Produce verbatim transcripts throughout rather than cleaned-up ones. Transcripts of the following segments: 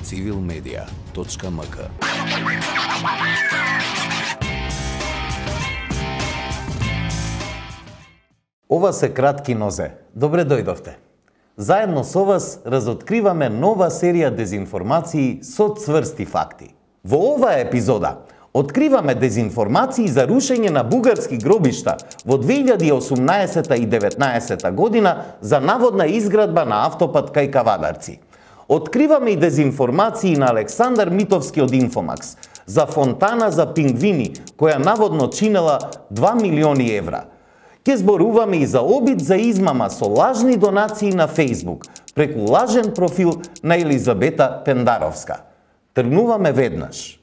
цивил медија точка ем ка. Ова се кратки нозе. Добре дојдовте. Заедно со вас разоткриваме нова серија дезинформации со цврсти факти. Во оваа епизода откриваме дезинформации за рушење на бугарски гробишта во две илјади и осумнаесета и деветнаесета година за наводна изградба на автопат кај Кавадарци. Откриваме и дезинформации на Александар Митовски од Инфомакс за фонтана за пингвини која наводно чинела два милиони евра. Ке зборуваме и за обид за измама со лажни донации на Фејсбук преку лажен профил на Елизабета Пендаровска. Тргнуваме веднаш.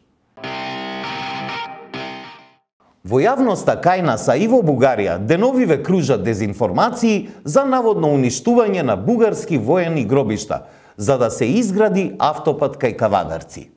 Во јавноста кај нас, а и во Бугарија, деновиве кружат дезинформации за наводно уништување на бугарски воени гробишта, за да се изгради автопат кај Кавадарци.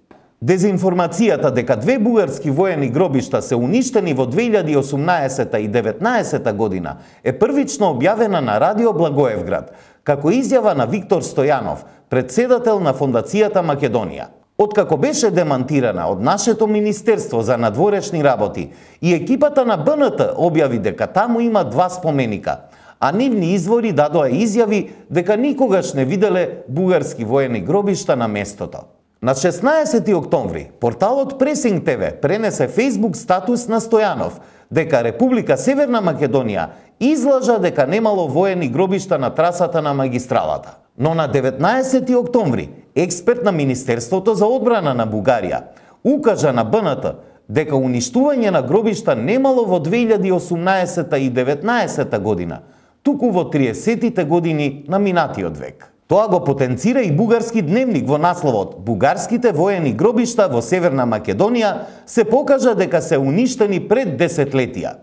Дезинформацијата дека две бугарски воени гробишта се уништени во две илјади и осумнаесета и деветнаесета година е првично објавена на Радио Благоевград, како изјава на Виктор Стојанов, председател на Фондацијата Македонија. Откако беше демантирана од нашето Министерство за надворешни работи и екипата на Б Н Т објави дека таму има два споменика, а нивни извори дадоа изјави дека никогаш не виделе бугарски воени гробишта на местото. На шеснаесети октомври, порталот Пресинг Т В пренесе Фејсбук статус на Стојанов дека Република Северна Македонија излажа дека немало воени гробишта на трасата на магистралата. Но на деветнаесети октомври, експерт на Министерството за одбрана на Бугарија укажа на Б Н Т дека уништување на гробишта немало во две илјади и осумнаесета и деветнаесета година, туку во триесеттите години на минатиот век. Тоа го потенцира и бугарски дневник во насловот «Бугарските воени гробишта во Северна Македонија се покажа дека се уништени пред десетлетија».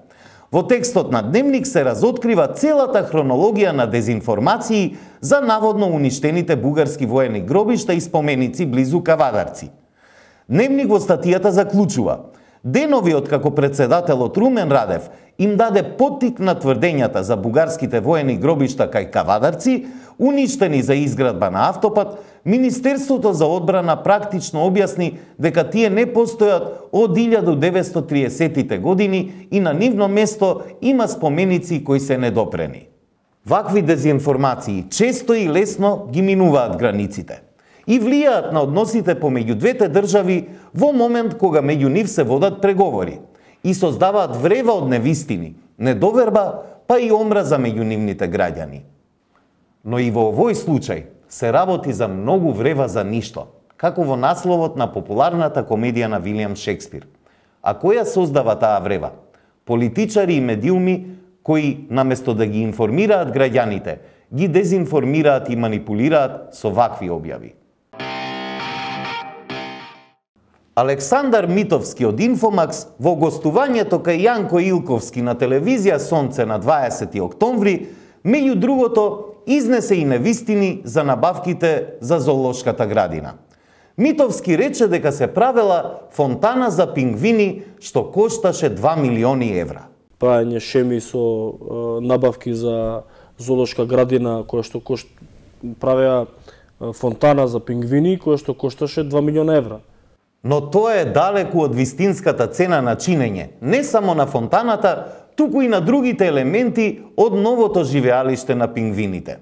Во текстот на дневник се разоткрива целата хронологија на дезинформации за наводно уништените бугарски воени гробишта и споменици близу Кавадарци. Дневник во статијата заклучува: денови откако председателот Румен Радев им даде поттик на тврдењата за бугарските воени гробишта кај Кавадарци, уништени за изградба на автопат, Министерството за одбрана практично објасни дека тие не постојат од илјада деветстотини и триесеттите години и на нивно место има споменици кои се недопрени. Вакви дезинформации често и лесно ги минуваат границите и влијаат на односите помеѓу двете држави во момент кога меѓу нив се водат преговори и создаваат врева од невистини, недоверба, па и омраза меѓу нивните граѓани. Но и во овој случај се работи за многу врева за ништо, како во насловот на популарната комедија на Вилијам Шекспир. А која создава таа врева? Политичари и медиуми кои, наместо да ги информираат граѓаните, ги дезинформираат и манипулираат со вакви објави. Александар Митовски од Инфомакс во гостувањето кај Јанко Илковски на телевизија Сонце на дваесети октомври, меѓу другото, изнесе и невистини за набавките за зоолошката градина. Митовски рече дека се правела фонтана за пингвини што кошташе два милиони евра. Правење шеми со е, набавки за зоолошка градина која што кошт... правеа фонтана за пингвини која што кошташе два милиона евра. Но тоа е далеку од вистинската цена на чинење, не само на фонтаната, туку и на другите елементи од новото живеалиште на пингвините.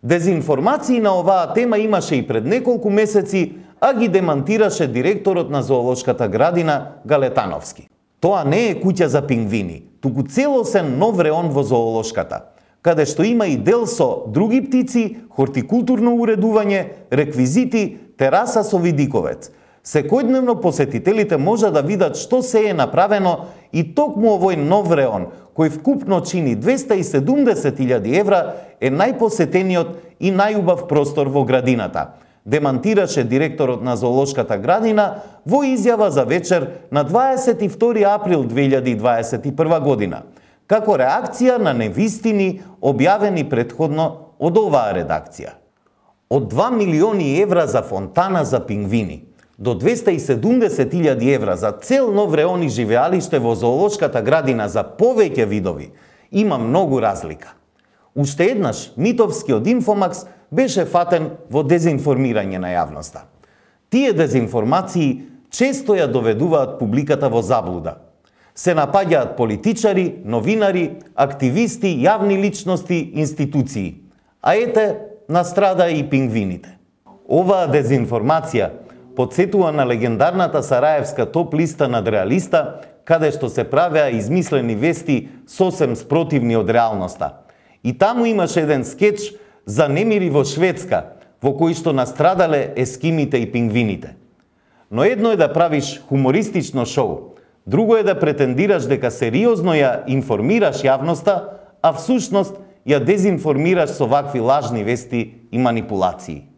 Дезинформации на оваа тема имаше и пред неколку месеци, а ги демантираше директорот на зоолошката градина Галетановски. Тоа не е куќа за пингвини, туку целосен нов реон во зоолошката, каде што има и дел со други птици, хортикултурно уредување, реквизити, тераса со видиковец. Секојдневно посетителите може да видат што се е направено и токму овој нов реон, кој вкупно чини двеста и седумдесет илјади евра, е најпосетениот и најубав простор во градината, демантираше директорот на зоолошката градина во изјава за вечер на дваесет и втори април две илјади и дваесет и прва година, како реакција на невистини објавени претходно од оваа редакција. Од два милиони евра за фонтана за пингвини до двеста и седумдесет илјади евра за цел нов реон и живеалиште во зоолошката градина за повеќе видови, има многу разлика. Уште еднаш Митовски од Инфомакс беше фатен во дезинформирање на јавноста. Тие дезинформации често ја доведуваат публиката во заблуда. Се напаѓаат политичари, новинари, активисти, јавни личности, институции. А ете, настрада и пингвините. Оваа дезинформација подсетува на легендарната сараевска топ листа над реалиста, каде што се правеа измислени вести сосем спротивни од реалноста. И таму имаше еден скеч за немири во Шведска, во кој што настрадале ескимите и пингвините. Но едно е да правиш хумористично шоу, друго е да претендираш дека сериозно ја информираш јавноста, а всушност ја дезинформираш со вакви лажни вести и манипулации.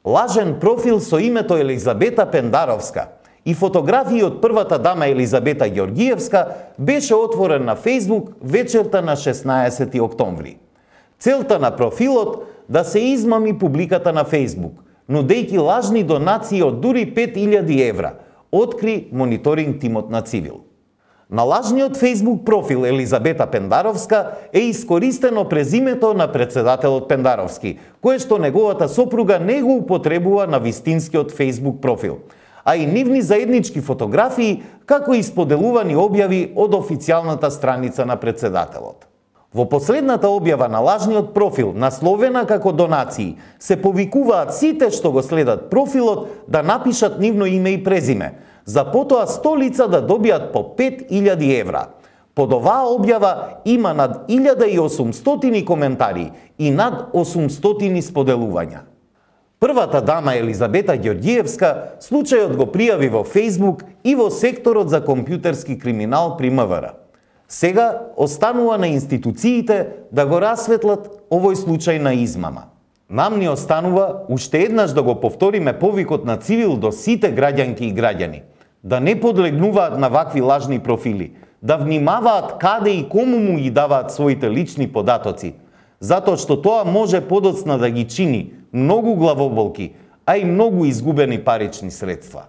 Лажен профил со името Елизабета Пендаровска и фотографии од првата дама Елизабета Ѓоргиевска беше отворен на Фејсбук вечерта на шеснаесети октомври. Целта на профилот да се измами публиката на Фејсбук, нудејќи лажни донации од дури пет илјади евра, откри мониторинг тимот на Цивил. На лажниот Фејсбук профил Елизабета Пендаровска е искористено презимето на председателот Пендаровски, кое што неговата сопруга не го употребува на вистинскиот Фејсбук профил, а и нивни заеднички фотографии, како и споделувани објави од официјалната страница на председателот. Во последната објава на лажниот профил, насловена како донации, се повикуваат сите што го следат профилот да напишат нивно име и презиме, за потоа сто лица да добијат по пет илјади евра. Под оваа објава има над илјада и осумстотини коментари и над осумстотини споделувања. Првата дама Елизабета Ѓоргиевска случајот го пријави во Фејсбук и во секторот за компјутерски криминал при МВР. Сега останува на институциите да го расветлат овој случај на измама. Нам ни останува уште еднаш да го повториме повикот на Цивил до сите граѓанки и граѓани, да не подлегнуваат на вакви лажни профили, да внимаваат каде и кому му ги даваат своите лични податоци, затоа што тоа може подоцна да ги чини многу главоболки, а и многу изгубени парични средства.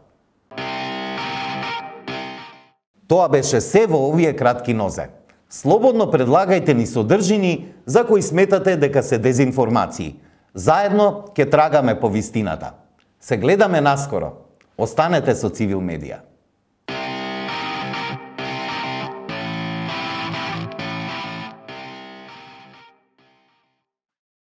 Тоа беше се во овие кратки нозе. Слободно предлагајте ни содржини за кои сметате дека се дезинформации. Заедно ќе трагаме по вистината. Се гледаме наскоро. Останете со Цивил Медија.